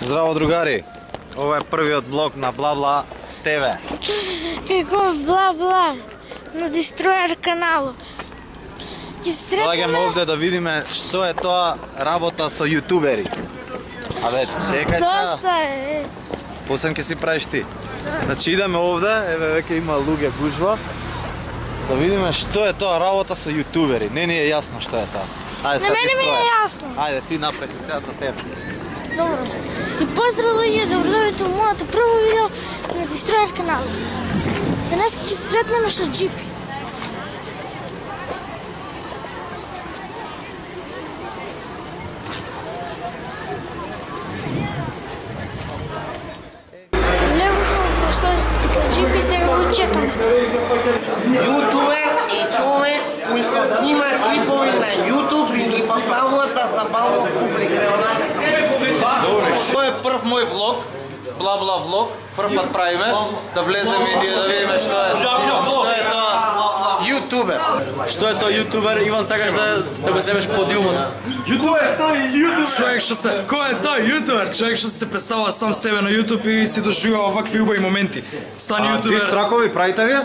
Здраво, другари! Ова е првиот влог на Бла-Бла ТВ. Како Бла-Бла на Дестројер каналот. Доаѓаме овде да видиме што е тоа работа со јутубери. Абе, чекај сега. Доста е. После ќе си правиш ти. Значи идеме овде, еве веќе има луѓе гужва. Да видиме што е тоа работа со јутубери. Не ни е јасно што е тоа. Ајде сега ти мене ми е строја. јасно. Ајде ти напред си сега за тебе. Добро. И поздрав луѓе, добродојдовте во моето прво видео на Дестројер каналот. Денес ќе се сретнеме со джипи. Джипи се го чекам. Јутубер е човек кој што снима клипови на Јутуб и ги поставува да забавува публика. Добре, што е прв мој влог? Бла-Бла влог. Прв пат правиме да влеземе и да видиме што е тоа јутубер. Што е тоа јутубер? Иван, сакаш да го земеш подиумот? Јутубер, тој е јутубер. Човек што се, кој е тој јутубер? Човек што се представува сам себе на јутуб и си доживува вакви убави моменти. Стани јутубер. Дистракови правите вие?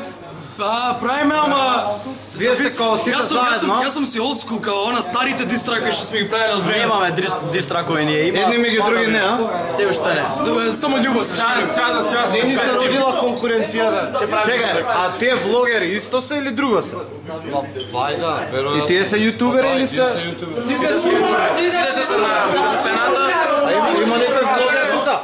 Правиме, ама Вие сте као сите заедно. Јас сум си old school као она старите дистраки што сме ги правеле од време. Немаме дистракови ние, има. Едни меѓу други не, а? Себе што не. Само љубов се шири. Не ни се родила конкуренцијата. Чекај, а тие влогери исто се или друго се? Вајда, веројатно. И тие се јутубери или се? Сите се се на сцената. А има некој влогер тука?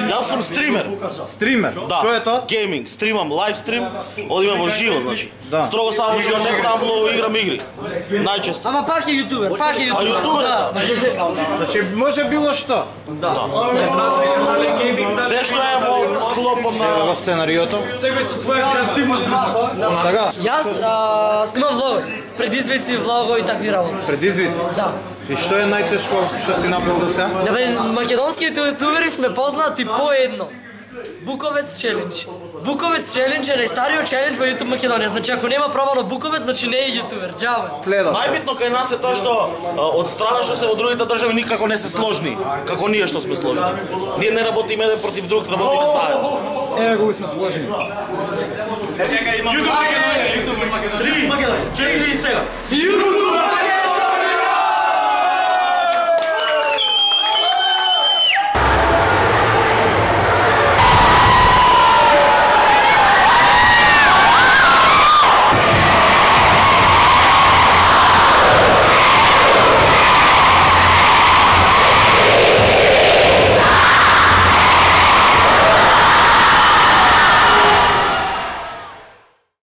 Јас сум стример. Стример. Што е тоа? Гейминг, стримам, лайв стрим, одиме во живо, значи. Да. Строго само живо, не правам влог, играм игри. Најчесто. Ама пак е јутубер, пак е А јутубер? Значи може било што? Се што е во склопот на Во сценариото. Секој со своја креативност. Така, Јас снимам влогови, предизвици, влогови и такви работи. предизвици. Да. И што е најтешко што си направил до сега? Македонските јутубери сме познати по едно. Буковец челендж. Буковец челендж е најстариот челендж во YouTube Македонија. Значи ако нема пробано Буковец, значи не е јутубер. Џабе. Следот. Најбитно кај нас е тоа што од страна што се во другите држави никако не се сложни, како ние што сме сложни. Ние не работиме еден против друг, работиме заедно. Еве го сме сложени. Чекај, има YouTube Македонија. 3, 4 и сега. Јутубер!